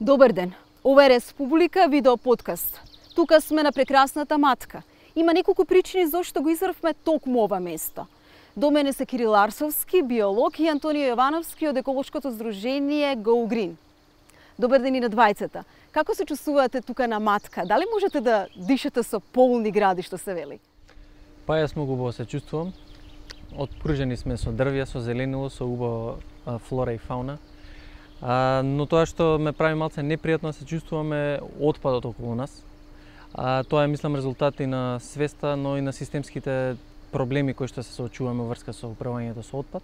Добар ден. Ова е Республика видео подкаст. Тука сме на прекрасната Матка. Има неколку причини зашто го избравме токму ова место. До мене се Кирил Арсовски, биолог, и Антонио Јовановски од еколошкото здружение Go Green. Добар ден и на двајцата. Како се чувствувате тука на Матка? Дали можете да дишате со полни гради, што се вели? Па јас многу убаво се чувствувам. Отпружени сме со дрвја, со зеленило, со убава флора и фауна. Но тоа што ме прави малце непријатно се чувствуваме отпадот околу нас. Тоа е, мислам, резултат и на свеста, но и на системските проблеми кои што се соочуваме во врска со управувањето со отпад.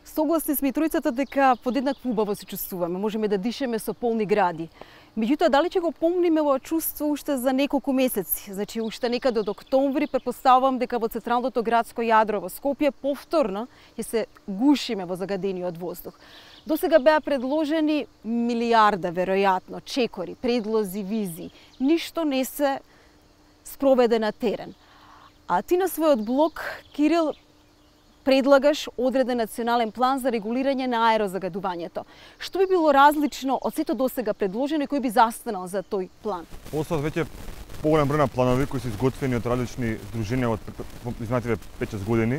Согласни сме и тројцата дека подеднакво убаво се чувствуваме, можеме да дишеме со полни гради. Меѓутоа, дали ќе го помниме ова чувство уште за неколку месеци? Значи, уште некаде од октомври, претпоставувам дека во централното градско јадро во Скопје повторно ќе се гушиме во загадениот воздух. До сега беа предложени милиарда, веројатно, чекори, предлози, визии. Ништо не се спроведе на терен. А ти на својот блог, Кирил, предлагаш одреден национален план за регулирање на аерозагадувањето. Што би било различно од сето досега предложено и кој би застанал за тој план? Постојат веќе поголем број на планови кои се изготвени од различни здруженија од изминативе 5-6 години,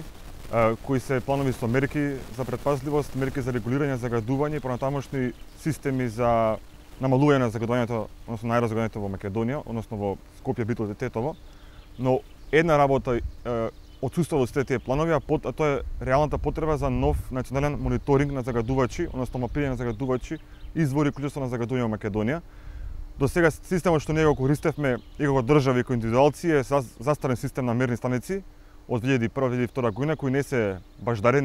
кои се планови со мерки за претпазливост, мерки за регулирање загадување и понатамошни системи за намалување на загадувањето, односно на аерозагадувањето во Македонија, односно во Скопје, Битол и Тетово. Но една работа отсуствува од сите тие планови, а тоа е реалната потреба за нов национален мониторинг на загадувачи, односно мапирање на загадувачи, извори и количество на загадување во Македонија. До сега системот што ние го користевме и како држави и како индивидуалци е застарен систем на мерни станици од 2001-2002 година, кои не се баждари,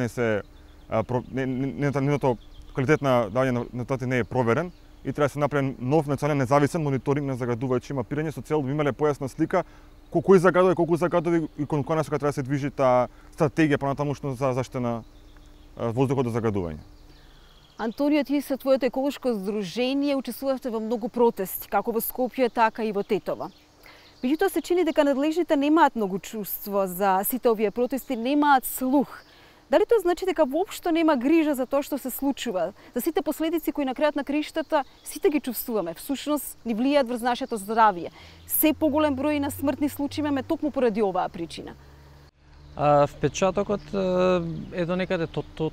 нивното квалитет на давање на резултати не е проверен и треба да се направи нов национален независен мониторинг на загадувачи, мапирање со цел да имале појасна слика кој загадува, колку загадува и кон која насока треба да се движи таа стратегија понатамошно за заштита на воздухот од загадување. Антонио, ти со твоето еколошко здружение учествувавте во многу протести, како во Скопје, така и во Тетово. Меѓутоа се чини дека надлежните немаат многу чувство за сите овие протести, немаат слух. Дали тоа значи дека воопшто нема грижа за тоа што се случува, за сите последици кои на крајот на краиштата сите ги чувствуваме, всушност ни влијаат врз нашето здравје. Се поголем број на смртни случаи имаме токму поради оваа причина. Впечатокот е до некаде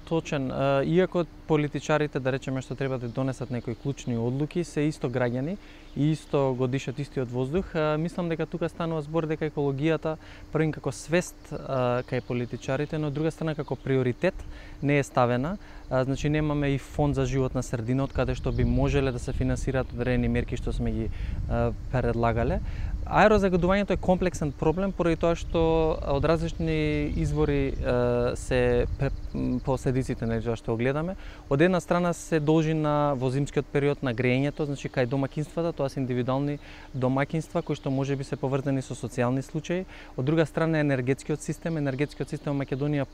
точен. Иако политичарите, да речеме, што треба да донесат некои клучни одлуки, се исто граѓани и исто го дишат истиот воздух, мислам дека тука станува збор дека екологијата првин како свест кај политичарите, но од друга страна како приоритет не е ставена. Значи немаме и фонд за живот на средина од каде што би можеле да се финансираат одредени мерки што сме ги предлагале. Аерозагадувањето е комплексен проблем поради тоа што од различни извори се последиците на тоа што го гледаме. Од една страна се должи на во зимскиот период на грејењето, значи кај домаќинствата, тоа се индивидуални домаќинства кои што можеби се поврзани со социјални случаи. Од друга страна енергетскиот систем во Македонија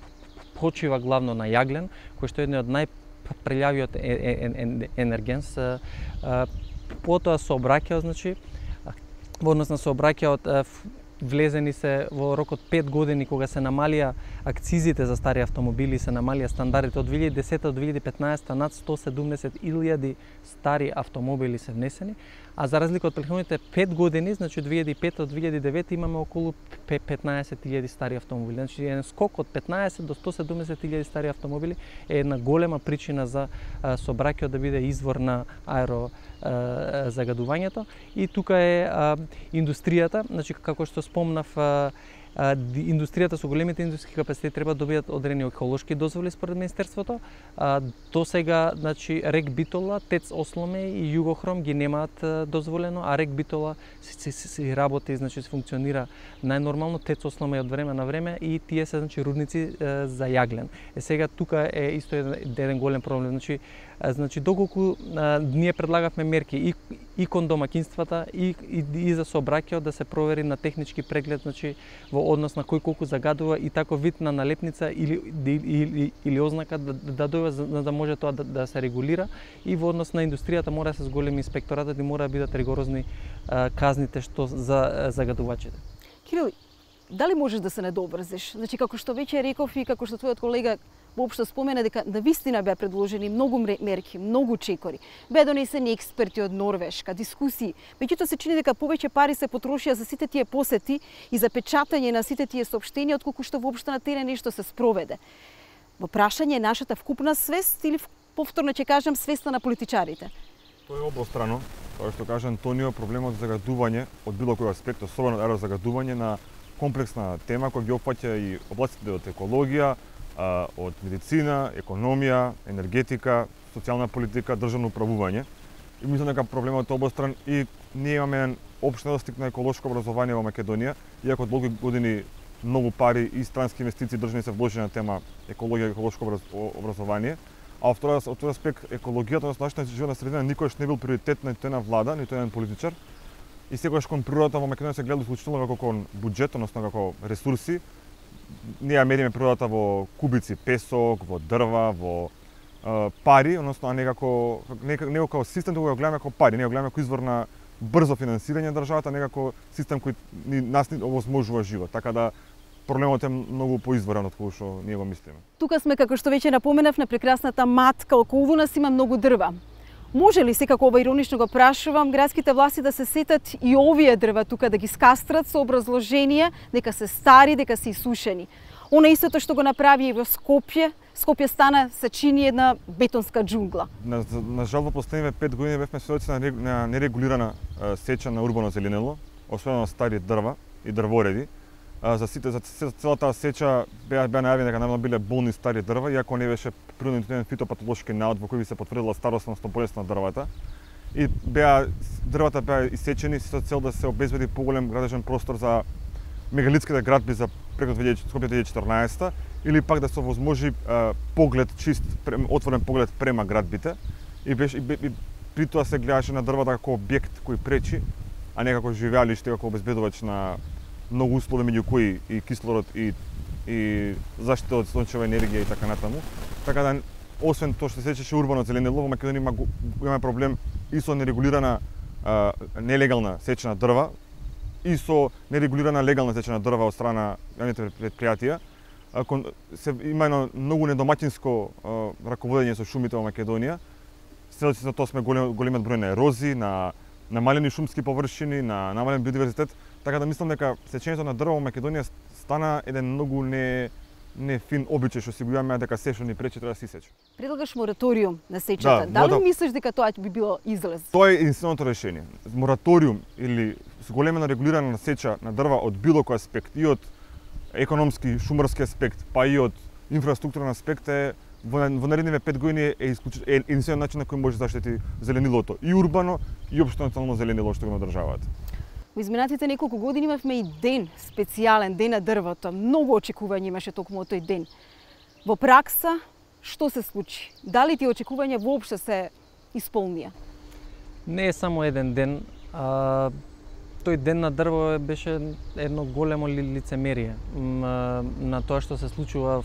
почива главно на јаглен, кој што е еден од најпрелјавиот енергенс. Потоа сообраќајот, значи во однос на сообраќајот влезени се во рокот 5 години кога се намалија акцизите за стари автомобили, се намалија стандардите од 2010 до 2015 над 170.000 стари автомобили се внесени, а за разлика од претходните 5 години, значи од 2005 до 2009 имаме околу 15.000 стари автомобили. Значи еден скок од 15 до 170.000 стари автомобили е една голема причина за сообраќајот да биде извор на аерозагадувањето. И тука е индустријата, значи како што спомнав, индустријата со големите индустријски капацитети треба да добијат одредени еколошки дозволи според Министерството. До сега, значи, РЕК Битола, ТЕЦ Осломе и Југохром ги немаат дозволено, а РЕК Битола се работи, значи се функционира најнормално, ТЕЦ Осломе од време на време и тие се, значи, рудници за јаглен. Сега тука е исто еден голем проблем, значи доколку ние предлагавме мерки и кон домаќинствата и за сообраќајот да се провери на технички преглед, значи во однос на кој колку загадува и тако вид на налепница или ознака да дојде за да може тоа да се регулира, и во однос на индустријата мора да се зголеми инспекторатот и мора да бидат ригорозни казните што за загадувачите. Кирил, дали можеш да се недобрзиш? Значи, како што веќе реков и како што твојот колега воопшто спомена, дека навистина беа предложени многу мерки, многу чекори. Беа донесени експерти од Норвешка, дискусии. Меѓутоа се чини дека повеќе пари се потрошија за сите тие посети и за печатање на сите тие соопштенија, отколку што воопшто на терен нешто се спроведе. Во прашање е нашата вкупна свест или повторно ќе кажам свеста на политичарите? Тоа е обострано. Тоа што кажа Антонио, проблемот за загадување од било кој аспект, особено аерозагадување на комплексна тема која ги опфаќа и областите од екологија, од медицина, економија, енергетика, социјална политика, државно управување. И мислам дека проблемот е обостран и ние имаме еден општ недостиг на еколошко образование во Македонија, иако од долги години многу пари и странски инвестиции државни се вложени на тема екологија и еколошко образование. А од тој аспект екологијата, односно нашата животна средина никогаш не бил приоритет на тој на влада, ниту еден политичар. И секогаш кон природата во Македонија се гледа исклучително како кон буџет, односно како ресурси. Ние ја мериме природата во кубици песок, во дрва, во пари, односно а не како систем, туку го гледаме како пари, не го гледаме како извор на брзо финансирање на државата, не како систем кој нас ни овозможува живот. Така да проблемот е многу поизворен од кој што ние го мислиме. Тука сме, како што веќе напоменав, на прекрасната матка, околу нас има многу дрва. Може ли, секако ова иронично го прашувам, градските власти да се сетат и овие дрва тука да ги скастрат со образложение дека се стари, дека се исушени? Она истото што го направи и во Скопје. Скопје стана, се чини една бетонска џунгла. На жал во последниве 5 години бевме сведоци на нерегулирана сеча на урбано зеленило, особено на стари дрва и дрвореди. За целата сеча беа најавени дека наведно биле болни стари дрва, иако не беше природен фитопатолошки наод во кој би се потврдила старосност на болест на дрвата. И дрвата беа исечени со цел да се обезбеди поголем градежен простор за мегалитските градби за преку Скопје 2014 или пак да се овозможи поглед чист, отворен поглед према градбите и при тоа се гледаше на дрвата како објект кој пречи, а не како живеалиште, како обезбедувач на многу услови, меѓу кои и кислород и заштита од сончева енергија и така натаму. Така да, освен тоа што се сечеше урбано зеленило, во Македонија имаме проблем и со нерегулирана нелегална сеча на дрва и со нерегулирана легална сеча на дрва од страна јавните предпријатија. Има едно многу недомаќинско раководење со шумите во Македонија. Сведоци за тоа сме големиот број на ерозии, на намалени шумски површини, на намален биодиверзитет. Така да мислам дека сечењето на дрва во Македонија стана еден многу не фин обичај што си го имаме, дека се што ни пречи треба да се сече. Предлагаш мораториум на сечата. Дали мислиш дека тоа би било излез? Тоа е единственото решение. Мораториум или големена регулирана сеча на дрва од било кој аспект, и од економски, шумарски аспект, па и од инфраструктурен аспект во наредниве 5 години е единствен начин на кој може да заштити зеленилото, и урбано, и општо национално зеленило што го има државата. Во изминатите неколку години имавме и ден, специјален ден на дрвото. Многу очекување имаше токму од тој ден. Во пракса, што се случи? Дали тие очекувања воопшто се исполнија? Не е само еден ден. Тој ден на дрво беше едно големо лицемерие на тоа што се случува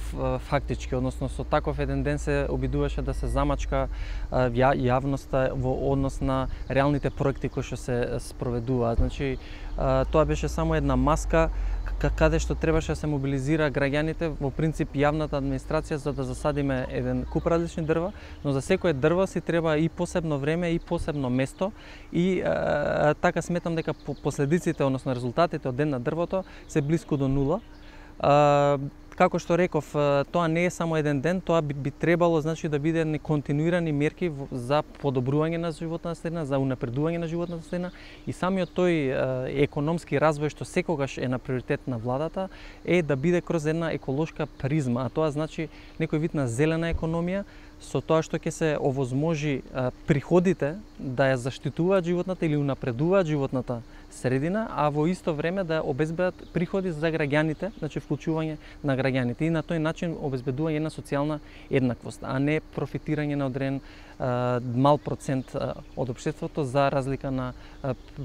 фактички, односно со таков еден ден се обидуваше да се замачка јавноста во однос на реалните проекти кои што се спроведуваат. Значи, тоа беше само една маска каде што требаше да се мобилизира граѓаните, во принцип јавната администрација, за да засадиме еден куп различни дрва, но за секое дрво си треба и посебно време и посебно место, и така сметам дека последиците, односно резултатите од ден на дрвото се блиску до нула. Како што реков, тоа не е само еден ден, тоа би требало, значи, да биде континуирани мерки за подобрување на животната средина, за унапредување на животната средина, и самиот тој економски развој што секогаш е на приоритет на владата е да биде кроз една еколошка призма, а тоа значи некој вид на зелена економија, со тоа што ќе се овозможи приходите да ја заштитуваат животната или унапредуваат животната средина, а во исто време да обезбедат приходи за граѓаните, значи вклучување на граѓаните, и на тој начин обезбедување на социјална еднаквост, а не профитирање на одреден мал процент од општеството за разлика на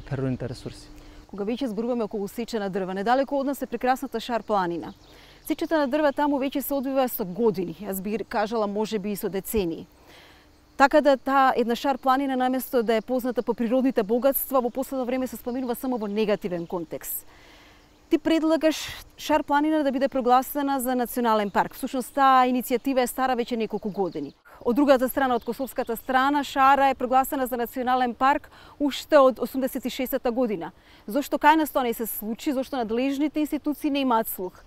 природните ресурси. Кога веќе зборуваме околу сеча на дрва, недалеку од нас е прекрасната Шар планина. Сечата на дрва таму веќе се одвива со години, јас би кажала можеби и со децении. Така да таа една Шар планина, наместо да е позната по природните богатства, во последно време се споменува само во негативен контекст. Ти предлагаш Шар планина да биде прогласена за национален парк. Всушност таа иницијатива е стара веќе неколку години. Од другата страна, од косовската страна, Шара е прогласена за национален парк уште од 86-та година. Зошто кај нас тоа не се случи? Зошто надлежните институции не имаат слух?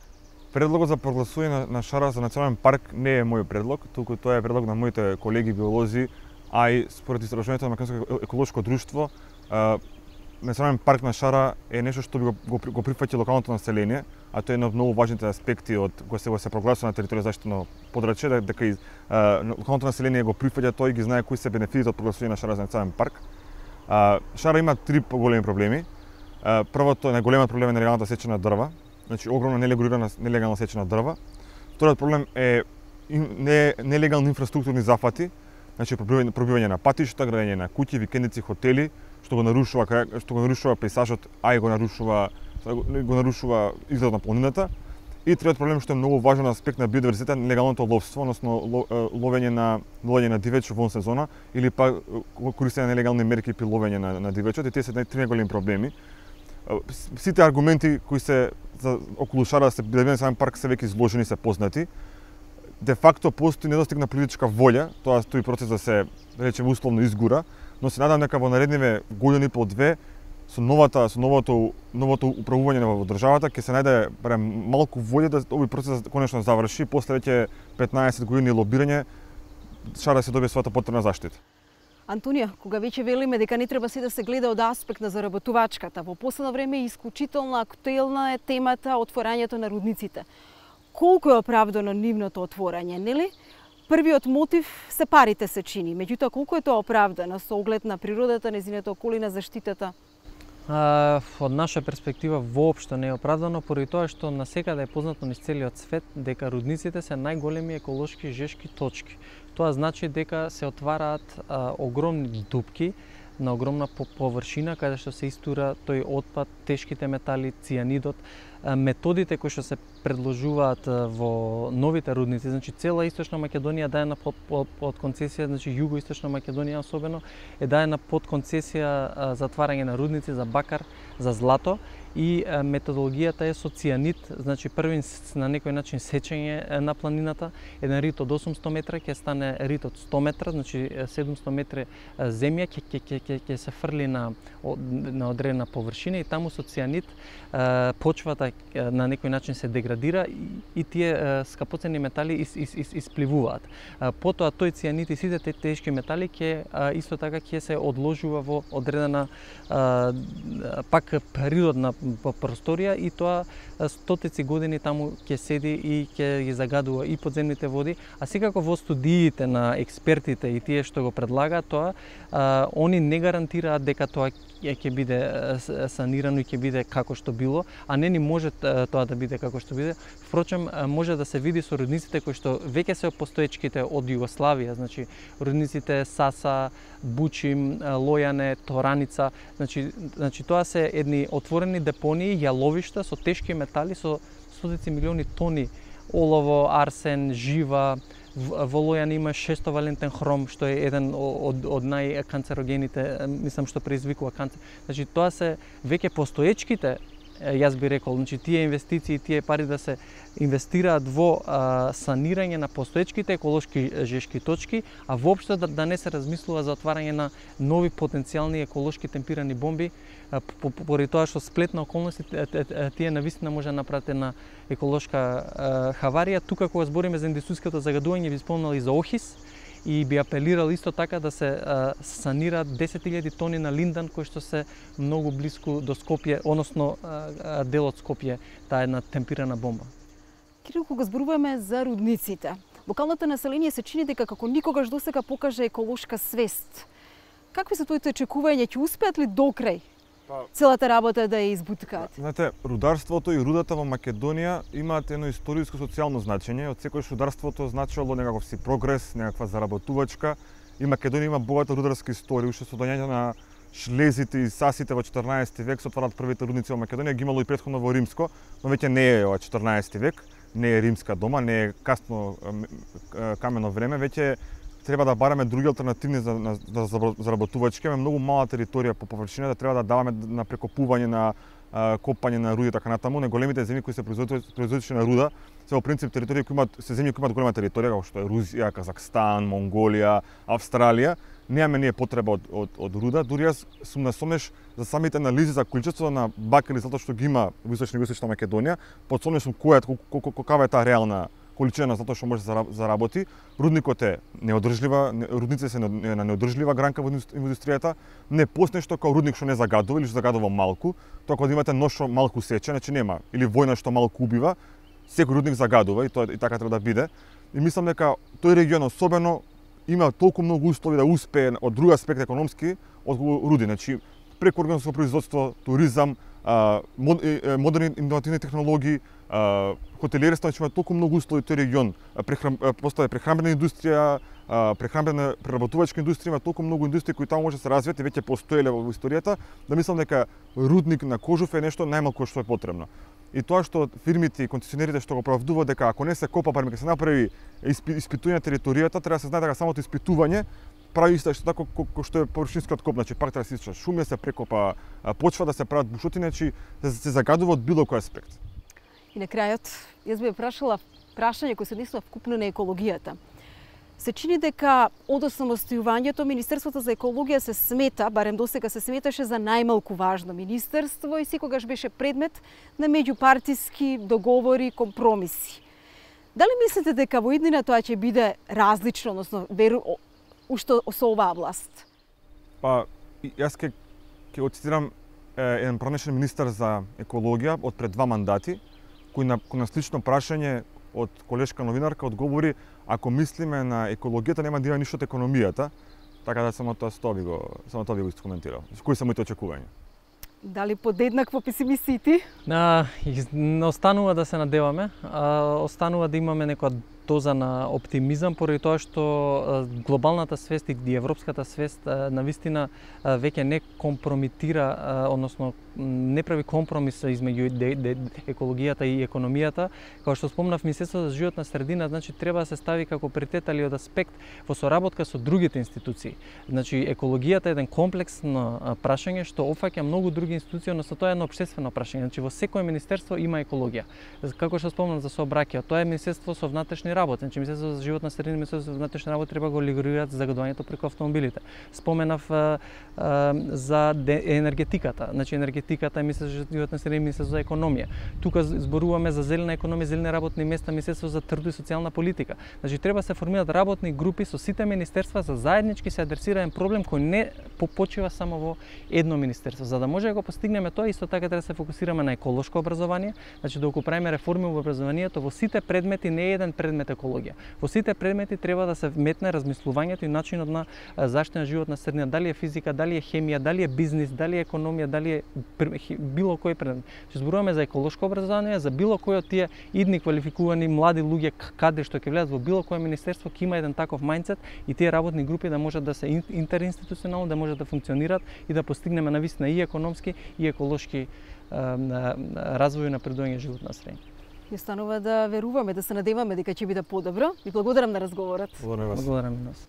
Предлогот за прогласување на Шара за национален парк не е мој предлог, туку тоа е предлог на моите колеги биолози, а и според истражувањето на Македонско еколошко друштво, национален парк на Шара е нешто што би го прифаќа локалното население, а тоа е еден од многу важните аспекти од кога се прогласува на територија заштитено подрачје, дека и локалното население го прифаќа тоа и ги знае кои се бенефитите од прогласување на Шара за национален парк. Шара има три поголеми проблеми. Првото, најголемиот проблем е нелегалната сеча на дрва, значи огромна нелегална сеча на дрва. Вториот проблем е нелегални инфраструктурни зафати, значи пробивање на патишта, градење на куќи, викендици, хотели, што го нарушува пејзажот, а и го нарушува изгледот на планината. И третиот проблем што е многу важен аспект на биодиверзитетот, нелегалното ловство, односно ловење на дивеч во сезона или па користење на нелегални мерки при ловење на дивечот, и тие се три најголеми проблеми. Сите аргументи кои се околу Шара да се биде национален парк се веќе изложени, се познати. Де факто постои недостиг на политичка волја, тоа стои процес да се, да речеме, условно изгура, но се надам дека во наредниве години по две со новото управување во државата ќе се најде барем малку волја да овој процес конечно заврши, после веќе 15 години лобирање Шара се добие својата потребна заштита. Антонија, кога веќе велиме дека не треба се да се гледа од аспект на заработувачката, во последно време исклучително актуелна е темата отворањето на рудниците. Колку е оправдано нивното отворање, нели? Првиот мотив се парите, се чини, меѓутоа колку е тоа оправдано со оглед на природата, нејзината околина, заштитата? Од наша перспектива воопшто не е оправдано, поради тоа што насекаде е познато низ целиот свет дека рудниците се најголеми еколошки жешки точки. Тоа значи дека се отвараат огромни дупки на огромна површина каде што се истура тој отпад, тешките метали, цијанидот. Методите кои што се предложуваат во новите рудници, значи цела Источна Македонија даена под концесија, значи Југоисточна Македонија особено е даена под концесија затварање на рудници за бакар, за злато, и методологијата е со цијанид, значи први на некој начин сечење на планината, еден рит од 800 метра ќе стане рит од 100 метра, значи 700 метри земја ќе се фрли на одредена површина и таму со цијанид почвата на некој начин се деградира и тие скапоцени метали испливуваат. Потоа тој цијанид и сите тешки метали исто така ќе се одложува во одредена пак природна просторија и тоа стотици години таму ќе седи и ќе ги загадува и подземните води, а секако во студиите на експертите и тие што го предлагаат тоа, они не гарантираат дека тоа ќе биде санирано и ќе биде како што било, а не ни може тоа да биде како што биде. Впрочем, може да се види со рудниците кои што веќе се постоечките од Југославија, значи рудниците Саса, Бучим, Лојане, Тораница, значи тоа се едни отворени депонии, јаловишта со тешки метали, со стотици милиони тони олово, арсен, жива. Во Лојане има 600-валентен хром, што е еден од најканцерогените, мислам, што предизвикува канцер. Значи тоа се веќе постоечките, јас би рекол, значи тие инвестиции, тие пари да се инвестираат во санирање на постоечките еколошки жешки точки, а воопшто да не се размислува за отварање на нови потенцијални еколошки темпирани бомби, поради тоа што сплет на околности тие навистина може да направат една еколошка хаварија. Тука кога збориме за индустријското загадување, ви спомнал и за Охис, и би апелирал исто така да се санираат 10.000 тони на линдан кои што се многу блиску до Скопје, односно дел од Скопје, таа една темпирана бомба. Кирил, кога зборуваме за рудниците, локалното население се чини дека како никогаш досега покаже еколошка свест. Какви се твоите очекувања, ќе успеат ли докрај целата работа да ја избуткаат? Знаете, рударството и рудата во Македонија имаат едно историско социјално значење. Од секојаш рударството значело некаков си прогрес, некаква заработувачка. И Македонија има богата рударска историја, уште со доаѓањето на шлезите и сасите во 14 век се отварат првите рудници во Македонија, ги имало и претходно во Римско, но веќе не е ова 14 век, не е римска дома, не е касно камено време, веќе треба да бараме други алтернативни за заработувачки. Имаме многу мала територија по површина, да треба да даваме на прекопување на копање на руди и така натаму, на големите земји кои се производичи на руда, се во принцип територии кои се земји кои имаат голема територија, како што е Русија, Казахстан, Монголија, Австралија. Немаме ние потреба од руда, дури јас сум насомнеш за самите анализи за количество на бакел и злато што ги има во Источна и Југоисточна Македонија, подсомнеш сум каква е таа реална количина на злато што може да заработи. Рудникот е неодржлива, рудници се на неодржлива гранка во индустријата, не постои нешто како рудник што не загадува или што загадува малку, тоа кога имате нож што малку сече, значи нема, или војна што малку убива, секој рудник загадува и тоа и така треба да биде. И мислам дека тој регион особено има толку многу услови да успее од друг аспект економски од руди, значи преку органско производство, туризам, модерни иновативни технологии, хотелиерство, значи има толку многу услови тој регион, постои прехранбена индустрија, прехранбена преработувачка индустрија, има толку многу индустрии кои таму може да се развијат и веќе постоеле во историјата, да мислам дека рудник на Кожуф е нешто најмалку што е потребно. И тоа што фирмите и концесионерите што го оправдуваат дека ако не се копа, барем ќе се направи испитување на територијата, треба да се знае дека самото испитување прави исто така како што е површинскиот коп, значи пак треба да се исча шуми, да се прекопа почва, да се прават бушотини, значи да се загадува од било кој аспект. И на крајот, јас би прашала прашање кој се однесува вкупно на екологијата. Се чини дека од осамостојувањето Министерството за екологија се смета, барем досега се сметаше за најмалку важно министерство и секогаш беше предмет на меѓупартиски договори, компромиси. Дали мислите дека во иднина тоа ќе биде различно, односно уште со оваа власт? Па, јас ќе го цитирам еден пранешен министер за екологија од пред 2 мандати, кој на слично прашање од колешка новинарка одговори: ако мислиме на екологијата, нема да има ништо од економијата, така да само тоа би го искоментирал. Кои се моите очекувања? Дали подеднакво песимисти? Останува да се надеваме, останува да имаме некоја доза на оптимизам, поради тоа што глобалната свест и европската свест навистина веќе не компромитира, односно не прави компромис измеѓу екологијата и економијата. Како што спомнав, Министерството за животна средина, значи треба да се стави како приоритет или од аспект во соработка со другите институции. Значи екологијата е еден комплексно прашање што опфаќа многу други институции, односно тоа е едно општествено прашање. Значи во секое министерство има екологија. Како што спомнав за сообраќајот, тоа е Министерство со внатрешни работи. Значи Министерството за животна средина и Министерството за внатрешни работи треба го регулираат загадувањето преку автомобилите. Споменав за енергетиката. Значи енергетиката е Министерството за животна средина и Министерството за економија. Тука зборуваме за зелена економија, зелени работни места, Министерството за трудови и социјална политика. Значи треба се формираат работни групи со сите министерства за заеднички се адресираен проблем кој не почива само во едно министерство. За да може да го постигнеме тоа, исто така треба да се фокусираме на еколошко образование, значи доколку правиме реформи во образованието, во сите предмети не е еден предмет екологија. Во сите предмети треба да се метне размислувањето и начинот на заштита на животна средина, дали е физика, дали е хемија, дали е бизнис, дали е економија, дали е било кој предмет. Што зборуваме за еколошко образование, за било кој од тие идни квалификувани млади луѓе каде што ќе влезат во било кое министерство, ќе има еден таков мајндсет и тие работни групи да можат да се интеринституционално, да можат да функционираат и да постигнеме навистина и економски и еколошки развој на напредување животна средина. Ни останува да веруваме, да се надеваме дека ќе биде подобро. Ви благодарам на разговорот. Благодарам и нас.